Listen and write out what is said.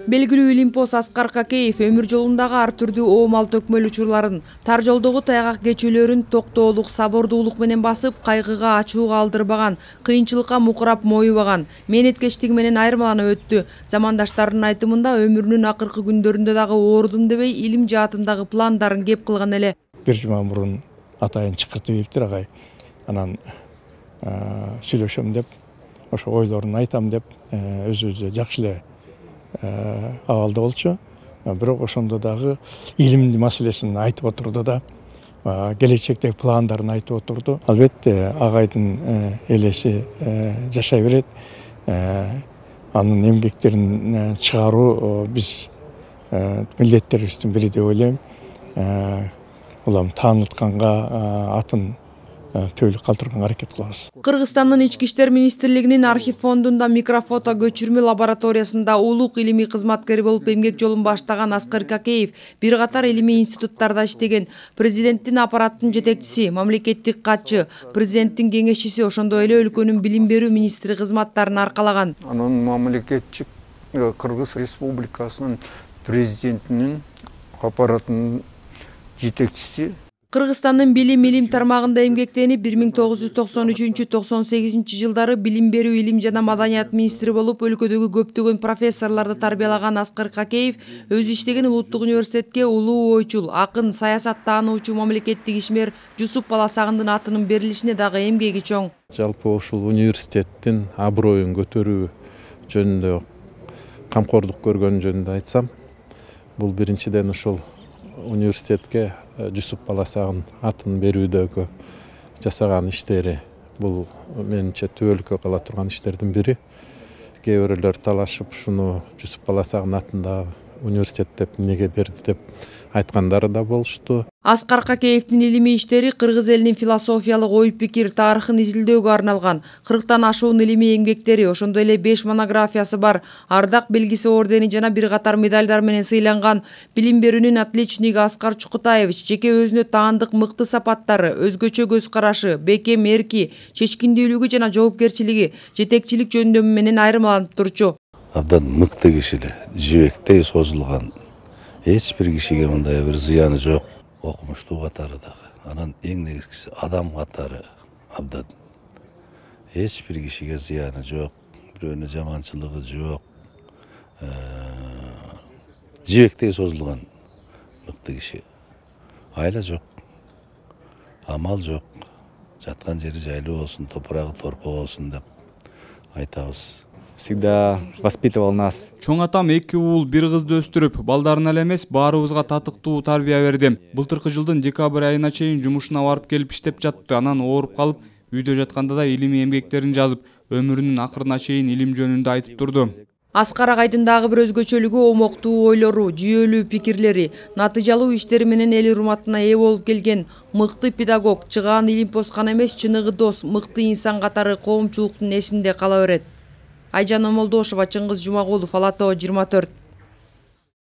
Белгилүү илимпоз Аскар Какеев өмүр жолундагы ар түрдүү оомал төкмөл учурларын, тар жолдогу тайгак кечүүлөрүн токтоолук, сабырдуулук менен басып, кайгыга, ачууга алдырбаган, кыйынчылыкка мукурап моюбаган, мээнеткечтиги менен айырмаланып өттү. Замандаштарынын айтымында өмүрүнүн акыркы күндөрүндө дагы оорудум дебей, илим жаатындагы пландарын кеп кылган эле. Бир жума мурун атайын чакыртып ийиптир агай. Анан сүйлөшөм деп, ошо ойлорун айтам деп, өзүбүзгө жакшы эле абалда болчу. Бирок ошондо дагы илим маселесин айтып отурду да, келечектеги пландарын айтып отурду. Албетте агайдын элеси жашай берет. Анын эмгектерин чыгаруу биз милдеттерибиздин бири деп ойлойм. Улам таанытканга атын төөлүк калтырганга аракет кылабыз. Кыргызстандын Ички иштер министрлигинин архив фондунда микрофото көчүрмө лабораториясында улук илимий кызматкери болуп эмгек жолун баштаган Аскар Какеев бир катар илимий институттарда иштеген. Президенттин аппараттын жетекчиси, мамлекеттик катчы, президенттин кеңешчиси, ошондой эле өлкөнүн билим берүү министри кызматтарын аркалаган. Анын мамлекеттик Кыргыз Республикасынын президентинин аппараттын жетекчиси. Кыргызстандын билим тармагында эмгектенип 1993-98 жылдары билим берүү, илим жана маданият министри болуп, өлкөдөгү көптөгөн профессорлорду тарбиялаган Аскар Какеев өзү иштеген улуттук университетке улуу ойчул, акын, саясат таануучу мамлекеттик ишмер Жусуп Баласагындын атынын берилишине дагы эмгеги чоң. Жалпы ушул университеттин аброюн көтөрүү жөнүндө камкордук көргөн жөнүндө айтсам, бул биринчиден ушул университетке Жусуп Баласагын атын берүүдөгү жасаган иштери, бул менимче түбөлүккө кала турган иштердин бири. Кээ бирөөлөр талашып, ушуну Жусуп Баласагын атындагы университет деп эмнеге берди деп айткандары да болушту. Аскар Какеевдин илимий иштери кыргыз элинин философиялык ой-пикир тарыхын изилдөөгө арналган. 40тан ашуун илимий эмгектери, ошондой эле 5 монографиясы бар. Ардак белгиси, ордени жана бир катар медальдар менен сыйланган. Билим берүүнүн отличниги Аскар Чукутаевич жеке өзүнө таандык мыкты сапаттары, өзгөчө көз карашы, бекем эрки, чечкиндүүлүгү жана жоопкерчилиги, жетекчилик жөндөмү менен айырмаланып турчу. Абдан мыкты кишилер, жибектей созулган. Эч бир кишиге мындай бир зыяны жок. Окумуштуу катары дагы. Анан эң негизгиси адам катары абдан. Эч бир кишиге зыяны жок, бирөөнө жаманчылыгы жок. Жибектей созулган мыкты киши. Айла жок. Амал жок. Жаткан жери жайлуу болсун, топурагы торпо болсун деп айтабыз. Всегда воспитывал нас. Чоң атам 2 уул, 1 кызды өстүрүп, балдарына эле эмес, баарыбызга татыктуу тарбия берди. Былтыркы жылдын декабрь айына чейин жумушуна барып келип иштеп жатты. Анан ооруп калып, үйдө жатканда да илимий эмгектерин жазып, өмүрүнүн акырына чейин илим жөнүндө айтып турду. Аскар агайдын дагы бир өзгөчөлүгү оомоктуу ойлору, жүйөлүү пикирлери, натыйжалуу иштери менен эл урматына ээ болуп келген мыкты педагог, чыгаан илимпоз гана эмес, чыныгы дос, мыкты инсан катары коомчулуктун эсинде кала берет. Айжан Омолдошова, Чыңгыз Жумагулов, Ала Тоо 24.